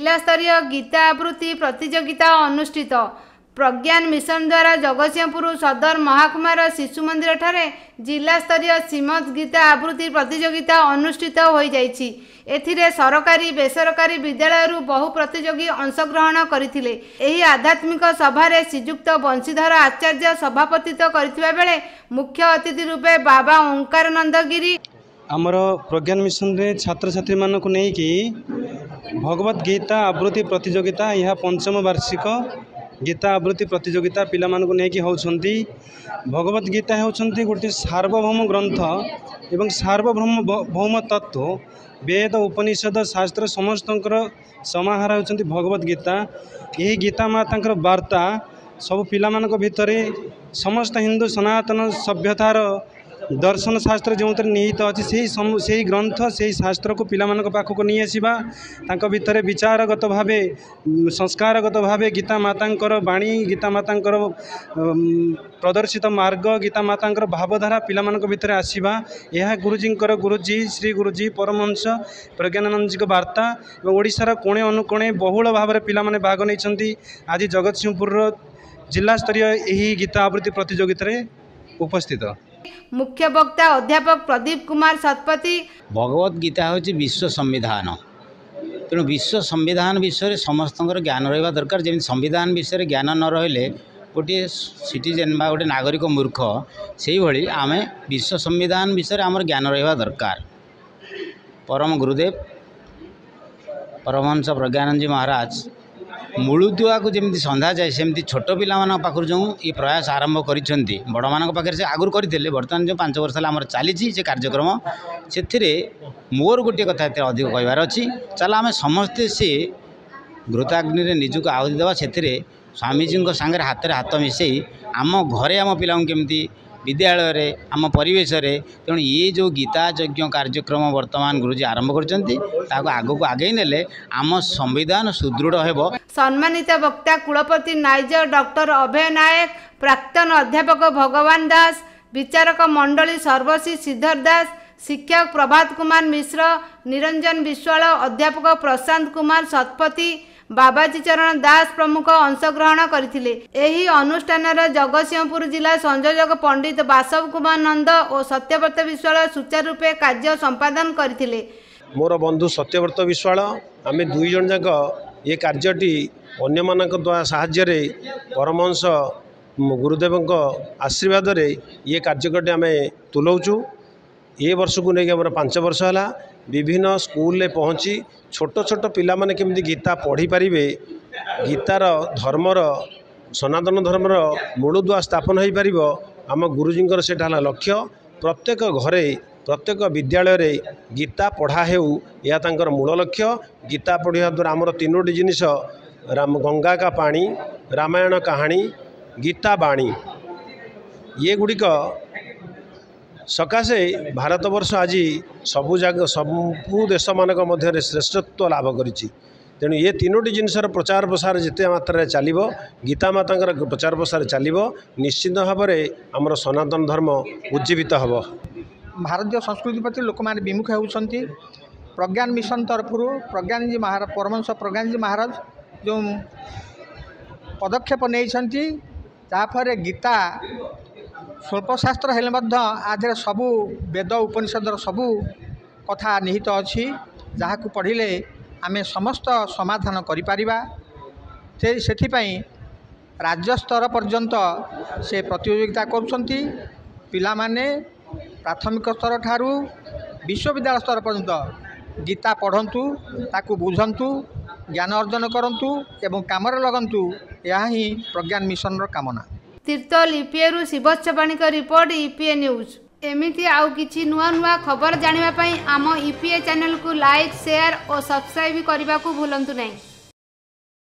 ଜିଲ୍ଲାସ୍ତରୀୟ ଗୀତା ଆବୃତ୍ତି ପ୍ରତିଯୋଗିତା ଅନୁଷ୍ଠିତ। ପ୍ରଜ୍ଞାନ ମିଶନ ଦ୍ୱାରା ଜଗତସିଂହପୁର ସଦର ମହକୁମାର ଶିଶୁ ମନ୍ଦିରଠାରେ ଜିଲ୍ଲାସ୍ତରୀୟ ଶ୍ରୀମଦ୍ ଗୀତା ଆବୃତ୍ତି ପ୍ରତିଯୋଗିତା ଅନୁଷ୍ଠିତ ହୋଇଯାଇଛି। ଏଥିରେ ସରକାରୀ, ବେସରକାରୀ ବିଦ୍ୟାଳୟରୁ ବହୁ ପ୍ରତିଯୋଗୀ ଅଂଶଗ୍ରହଣ କରିଥିଲେ। ଏହି ଆଧ୍ୟାତ୍ମିକ ସଭାରେ ଶ୍ରୀଯୁକ୍ତ ବଂଶୀଧର ଆଚାର୍ଯ୍ୟ ସଭାପତିତ୍ୱ କରିଥିବା ବେଳେ ମୁଖ୍ୟ ଅତିଥି ରୂପେ ବାବା ଓଙ୍କାରାନନ୍ଦ ଗିରି, ଆମର ପ୍ରଜ୍ଞାନ ମିଶନରେ ଛାତ୍ରଛାତ୍ରୀମାନଙ୍କୁ ନେଇକି ଭଗବତ ଗୀତା ଆବୃତ୍ତି ପ୍ରତିଯୋଗିତା, ଏହା ପଞ୍ଚମ ବାର୍ଷିକ ଗୀତା ଆବୃତ୍ତି ପ୍ରତିଯୋଗିତା ପିଲାମାନଙ୍କୁ ନେଇକି ହେଉଛନ୍ତି। ଭଗବତ ଗୀତା ହେଉଛନ୍ତି ଗୋଟିଏ ସାର୍ବଭୌମ ଗ୍ରନ୍ଥ ଏବଂ ସାର୍ବଭୌମ ଭୌମ ତତ୍ତ୍ୱ। ବେଦ, ଉପନିଷଦ, ଶାସ୍ତ୍ର ସମସ୍ତଙ୍କର ସମାହାର ହେଉଛନ୍ତି ଭଗବତ ଗୀତା। ଏହି ଗୀତା ମାତାଙ୍କର ବାର୍ତ୍ତା ସବୁ ପିଲାମାନଙ୍କ ଭିତରେ, ସମସ୍ତ ହିନ୍ଦୁ ସନାତନ ସଭ୍ୟତାର ଦର୍ଶନ ଶାସ୍ତ୍ର ଯେଉଁଥିରେ ନିହିତ ଅଛି, ସେଇ ଗ୍ରନ୍ଥ, ସେଇ ଶାସ୍ତ୍ରକୁ ପିଲାମାନଙ୍କ ପାଖକୁ ନେଇ ଆସିବା, ତାଙ୍କ ଭିତରେ ବିଚାରଗତ ଭାବେ, ସଂସ୍କାରଗତ ଭାବେ ଗୀତା ମାତାଙ୍କର ବାଣୀ, ଗୀତା ମାତାଙ୍କର ପ୍ରଦର୍ଶିତ ମାର୍ଗ, ଗୀତା ମାତାଙ୍କର ଭାବଧାରା ପିଲାମାନଙ୍କ ଭିତରେ ଆସିବା, ଏହା ଗୁରୁଜୀଙ୍କର, ଗୁରୁଜୀ ଶ୍ରୀ ଗୁରୁଜୀ ପରମହଂସ ପ୍ରଜ୍ଞାନନ୍ଦଜୀଙ୍କ ବାର୍ତ୍ତା। ଏବଂ ଓଡ଼ିଶାର କୋଣେ ଅନୁକୋଣେ ବହୁଳ ଭାବରେ ପିଲାମାନେ ଭାଗ ନେଇଛନ୍ତି। ଆଜି ଜଗତସିଂହପୁରର ଜିଲ୍ଲାସ୍ତରୀୟ ଏହି ଗୀତା ଆବୃତ୍ତି ପ୍ରତିଯୋଗିତାରେ ଉପସ୍ଥିତ ମୁଖ୍ୟ ବକ୍ତା ଅଧ୍ୟାପକ ପ୍ରଦୀପ କୁମାର ଶତପଥୀ। ଭଗବତ ଗୀତା ହେଉଛି ବିଶ୍ୱ ସମ୍ବିଧାନ। ତେଣୁ ବିଶ୍ୱ ସମ୍ବିଧାନ ବିଷୟରେ ସମସ୍ତଙ୍କର ଜ୍ଞାନ ରହିବା ଦରକାର। ଯେମିତି ସମ୍ବିଧାନ ବିଷୟରେ ଜ୍ଞାନ ନ ରହିଲେ ଗୋଟିଏ ସିଟିଜେନ୍ ବା ଗୋଟିଏ ନାଗରିକ ମୂର୍ଖ, ସେଇଭଳି ଆମେ ବିଶ୍ୱ ସମ୍ବିଧାନ ବିଷୟରେ ଆମର ଜ୍ଞାନ ରହିବା ଦରକାର। ପରମ ଗୁରୁଦେବ ପରମହଂସ ପ୍ରଜ୍ଞାନନ୍ଦଜୀ ମହାରାଜ ମୂଳଦୁଆକୁ ଯେମିତି ସନ୍ଧାଯାଏ, ସେମିତି ଛୋଟ ପିଲାମାନଙ୍କ ପାଖରୁ ଯେଉଁ ଏ ପ୍ରୟାସ ଆରମ୍ଭ କରିଛନ୍ତି, ବଡ଼ମାନଙ୍କ ପାଖରେ ସେ ଆଗରୁ କରିଥିଲେ, ବର୍ତ୍ତମାନ ଯେଉଁ 5 ବର୍ଷ ହେଲା ଆମର ଚାଲିଛି ସେ କାର୍ଯ୍ୟକ୍ରମ, ସେଥିରେ ମୋର ଗୋଟିଏ କଥା ଏଥିରେ ଅଧିକ କହିବାର ଅଛି। ଚାଲ ଆମେ ସମସ୍ତେ ସେ ଘୃତାଗ୍ନିରେ ନିଜକୁ ଆହୁତି ଦେବା। ସେଥିରେ ସ୍ୱାମୀଜୀଙ୍କ ସାଙ୍ଗରେ ହାତରେ ହାତ ମିଶାଇ ଆମ ଘରେ ଆମ ପିଲାଙ୍କୁ କେମିତି, ବିଦ୍ୟାଳୟରେ, ଆମ ପରିବେଶରେ, ତେଣୁ ଇଏ ଯେଉଁ ଗୀତା ଯଜ୍ଞ କାର୍ଯ୍ୟକ୍ରମ ବର୍ତ୍ତମାନ ଗୁରୁଜୀ ଆରମ୍ଭ କରିଛନ୍ତି, ତାକୁ ଆଗକୁ ଆଗେଇ ନେଲେ ଆମ ସମ୍ବିଧାନ ସୁଦୃଢ଼ ହେବ। ସମ୍ମାନିତ ବକ୍ତା କୁଳପତି ନାଇଜର ଡକ୍ଟର ଅଭୟ ନାୟକ, ପ୍ରାକ୍ତନ ଅଧ୍ୟାପକ ଭଗବାନ ଦାସ, ବିଚାରକ ମଣ୍ଡଳୀ ସର୍ବଶ୍ରୀ ଶ୍ରୀଧର ଦାସ, ଶିକ୍ଷକ ପ୍ରଭାତ କୁମାର ମିଶ୍ର, ନିରଞ୍ଜନ ବିଶ୍ୱାଳ, ଅଧ୍ୟାପକ ପ୍ରଶାନ୍ତ କୁମାର ଶତପଥୀ, ବାବାଜୀ ଚରଣ ଦାସ ପ୍ରମୁଖ ଅଂଶଗ୍ରହଣ କରିଥିଲେ। ଏହି ଅନୁଷ୍ଠାନର ଜଗତସିଂହପୁର ଜିଲ୍ଲା ସଂଯୋଜକ ପଣ୍ଡିତ ବାସବ କୁମାର ନନ୍ଦ ଓ ସତ୍ୟବ୍ରତ ବିଶ୍ୱାଳ ସୁଚାରୁ ରୂପେ କାର୍ଯ୍ୟ ସମ୍ପାଦନ କରିଥିଲେ। ମୋର ବନ୍ଧୁ ସତ୍ୟବ୍ରତ ବିଶ୍ୱାଳ, ଆମେ ଦୁଇ ଜଣ ଯାକ ଏ କାର୍ଯ୍ୟଟି ଅନ୍ୟମାନଙ୍କ ଦ୍ୱାରା ସାହାଯ୍ୟରେ, ପରମହଂସ ଗୁରୁଦେବଙ୍କ ଆଶୀର୍ବାଦରେ ଇଏ କାର୍ଯ୍ୟକ୍ରମଟି ଆମେ ତୁଲଉଛୁ। ଏ ବର୍ଷକୁ ନେଇକି ଆମର 5 ବର୍ଷ ହେଲା। ବିଭିନ୍ନ ସ୍କୁଲରେ ପହଞ୍ଚି ଛୋଟ ଛୋଟ ପିଲାମାନେ କେମିତି ଗୀତା ପଢ଼ିପାରିବେ, ଗୀତାର ଧର୍ମର, ସନାତନ ଧର୍ମର ମୂଳଦୁଆ ସ୍ଥାପନ ହୋଇପାରିବ, ଆମ ଗୁରୁଜୀଙ୍କର ସେଇଟା ହେଲା ଲକ୍ଷ୍ୟ। ପ୍ରତ୍ୟେକ ଘରେ, ପ୍ରତ୍ୟେକ ବିଦ୍ୟାଳୟରେ ଗୀତା ପଢ଼ା ହେଉ, ଏହା ତାଙ୍କର ମୂଳ ଲକ୍ଷ୍ୟ। ଗୀତା ପଢ଼ିବା ଦ୍ୱାରା ଆମର ତିନୋଟି ଜିନିଷ, ରାମ ଗଙ୍ଗା କା ପାଣି, ରାମାୟଣ କାହାଣୀ, ଗୀତା ବାଣୀ, ଇଏ ଗୁଡ଼ିକ ସକାଶେ ଭାରତବର୍ଷ ଆଜି ସବୁ ଜାଗା, ସବୁ ଦେଶମାନଙ୍କ ମଧ୍ୟରେ ଶ୍ରେଷ୍ଠତ୍ୱ ଲାଭ କରିଛି। ତେଣୁ ଏ ତିନୋଟି ଜିନିଷର ପ୍ରଚାର ପ୍ରସାର ଯେତେ ମାତ୍ରାରେ ଚାଲିବ, ଗୀତା ମାତାଙ୍କର ପ୍ରଚାର ପ୍ରସାର ଚାଲିବ, ନିଶ୍ଚିତ ଭାବରେ ଆମର ସନାତନ ଧର୍ମ ଉଜ୍ଜୀବିତ ହେବ। ଭାରତୀୟ ସଂସ୍କୃତି ପ୍ରତି ଲୋକମାନେ ବିମୁଖ ହେଉଛନ୍ତି। ପ୍ରଜ୍ଞାନ ମିଶନ ତରଫରୁ ପ୍ରଜ୍ଞାନଜୀ ମହାରାଜ, ପରମହଂସ ପ୍ରଜ୍ଞାନଜୀ ମହାରାଜ ଯେଉଁ ପଦକ୍ଷେପ ନେଇଛନ୍ତି, ତାପରେ ଗୀତା ସ୍ୱଳ୍ପଶାସ୍ତ୍ର ହେଲେ ମଧ୍ୟ ଆ ଦେହରେ ସବୁ ବେଦ ଉପନିଷଦର ସବୁ କଥା ନିହିତ ଅଛି, ଯାହାକୁ ପଢ଼ିଲେ ଆମେ ସମସ୍ତ ସମାଧାନ କରିପାରିବା। ସେ ସେଥିପାଇଁ ରାଜ୍ୟସ୍ତର ପର୍ଯ୍ୟନ୍ତ ସେ ପ୍ରତିଯୋଗିତା କରୁଛନ୍ତି। ପିଲାମାନେ ପ୍ରାଥମିକ ସ୍ତର ଠାରୁ ବିଶ୍ୱବିଦ୍ୟାଳୟ ସ୍ତର ପର୍ଯ୍ୟନ୍ତ ଗୀତା ପଢ଼ନ୍ତୁ, ତାକୁ ବୁଝନ୍ତୁ, ଜ୍ଞାନ ଅର୍ଜନ କରନ୍ତୁ ଏବଂ କାମରେ ଲଗାନ୍ତୁ, ଏହା ହିଁ ପ୍ରଜ୍ଞାନ ମିଶନର କାମନା। ତିର୍ତ୍ତୋଲ ଇପିଏରୁ ଶିବତ୍ସ ପାଣିଙ୍କ ରିପୋର୍ଟ, ଇପିଏ ନ୍ୟୁଜ୍। ଏମିତି ଆଉ କିଛି ନୂଆ ନୂଆ ଖବର ଜାଣିବା ପାଇଁ ଆମ ଇପିଏ ଚ୍ୟାନେଲକୁ ଲାଇକ୍, ସେୟାର ଓ ସବସ୍କ୍ରାଇବ୍ କରିବାକୁ ଭୁଲନ୍ତୁ ନାହିଁ।